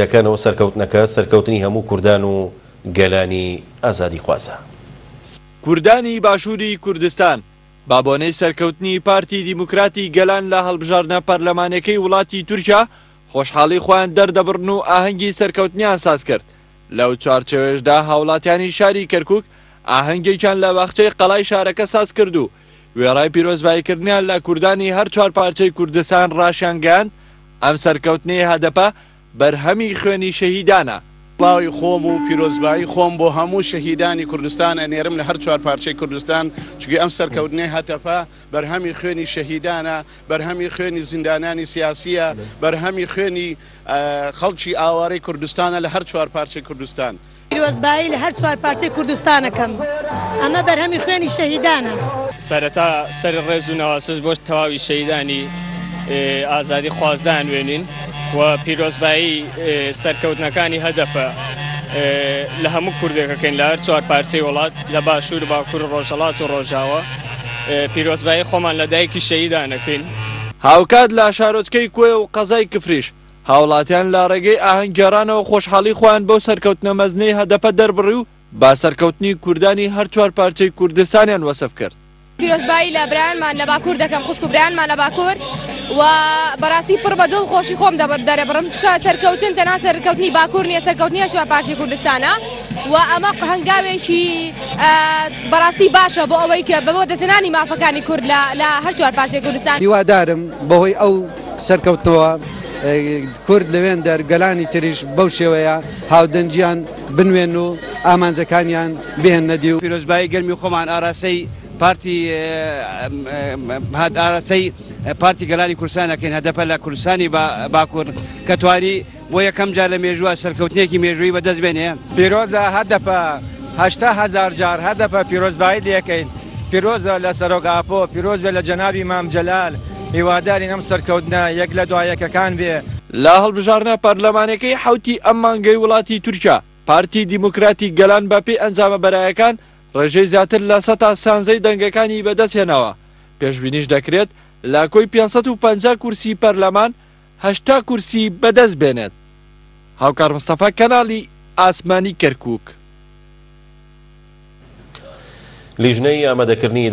دەکەنەوە سەرکەوتنەکە سەرکەوتنی هەموو کوردان و گەلانی ئازادیخوازە. کوردانی باشووری کوردستان بە بۆنەی سەرکەوتنی پارتی دیموکراتی گەلان لە هەڵبژاردنە پەرلەمانیەکەی وڵاتی تورکیا خۆشحاڵی خۆیان دەردەبڕن و ئاهەنگی سەرکەوتنیان سازکرد. لەو چوارچێوەیەشدا هاوڵاتیانی شاری کەرکوک ئاهەنگێکیان لە باخچەی قەڵای شارەکە سازکرد و وێڕای پیرۆزباییکردنیان لە کوردانی هەر چوارپارچەی کوردستان ڕاشیانگەیاند ئەم سەرکەوتنەی هەدەپە بەرهەمی خوێنی شەهیدانە. سڵاوی خۆم و پیرۆزبایی خۆم بۆ هەموو شەهیدانی کوردستان ئەنێرم لە هەر چوارپارچەی کوردستان، چونکە ئەم سەرکەوتنەی هەتەپە بەرهەمی خوێنی شەهیدانە، بەرهەمی خوێنی زیندانیانی سیاسییە، بەرهەمی خوێنی خەڵکی ئاوارەی کوردستانە لە هەر چوارپارچەی کوردستان. پیرۆزبایی لە هەر چوارپارچەی کوردستان ئەکەم، ئەمە بەرهەمی خوێنی شەهیدانە. سەرەتا سەری ڕێز و نەوازش بۆ تەواوی شەهیدانی ئازادی خواز دانوێنین و پیرۆزبایی سەرکەوتنەکانی هەدەپە لە هەموو کوردێکەکەین لە هەر چوار پارچەی وڵات لە باشوور و باکوور و ڕۆژهەڵات و ڕۆژاوا پیرۆزبایی خۆمان لە دایکی شەهیدانەکەین. هاوکات لە شارۆچکەی کۆیە و قەزای کفریش هاوڵاتیان لە ڕێگەی ئاهەنگگێڕانەوە خۆشحاڵی خۆیان بەو سەرکەوتنە مەزنەی هەدەپە دەربڕی و بە سەرکەوتنی کوردانی هەر چوار پارچەی کوردستانیان وەسف کرد. پیرۆزبایی لە برایانمان لە باکوور دەکەم، خوشک و برایانمان لە باکوور و بەڕاستی پڕ بە دڵ خۆشی خۆم دەرەبڕم، چونکە سەرکەوتن تەنها سەرکەوتنی باکوور نییە، سەرکەوتنی هەر چوار پارچەی کوردستانە و ئەمە هەنگاوێکی بەڕاستی باشە بۆ ئەوەی کە بە بەدەستهێنانی مافەکانی کورد لە هەر چوار پارچەی کوردستان. هیوادارم بەهۆی ئەو سەرکەوتنەوە کورد لەوێندەر گەلانی تریش بەو شێوەیە هاودەنگیان بنوێن و ئامانجەکانیان بهێننە دی. پیرۆزبایی گەرمی خۆمان ئاراستەی پارتی ئاراستەی پارتی گەلانی کوردستان ئەکەین هەدەپە لە کوردستانی باکوور کە توانی بۆ یەکەم جار لە مێژووە سەرکەوتنێکی مێژوویی بەدەست بێنێ. پیرۆزە هەدەپە 80,000 جار هەدەپە پیرۆزبایی لێکەین پیرۆزە لە سەرۆک ئاپۆ پیرۆز بێ لە جەنابی مام جەلال هیوادارین ئەم سەرکەوتنە یەک لە دوا یەکەکان بێ. لە هەڵبژاردنە پەرلەمانیەکەی حەوتی ئەم مانگەی وڵاتی تورکیا، پارتی دیموکراتی گەلان بە پێی ئەنجامە بەرایەکان ڕێژەی زیاتر لە سەتا سیانزەی دەنگەکانی بەدەستهێناوە، پێشبینیش دەکرێت لە کۆی 550 کورسی پەرلەمان 80 کورسی بەدەست بێنێت. هاوکار مستەفا کەناڵی ئاسمانی کەرکوک. لیژنەی ئامادەکردنی.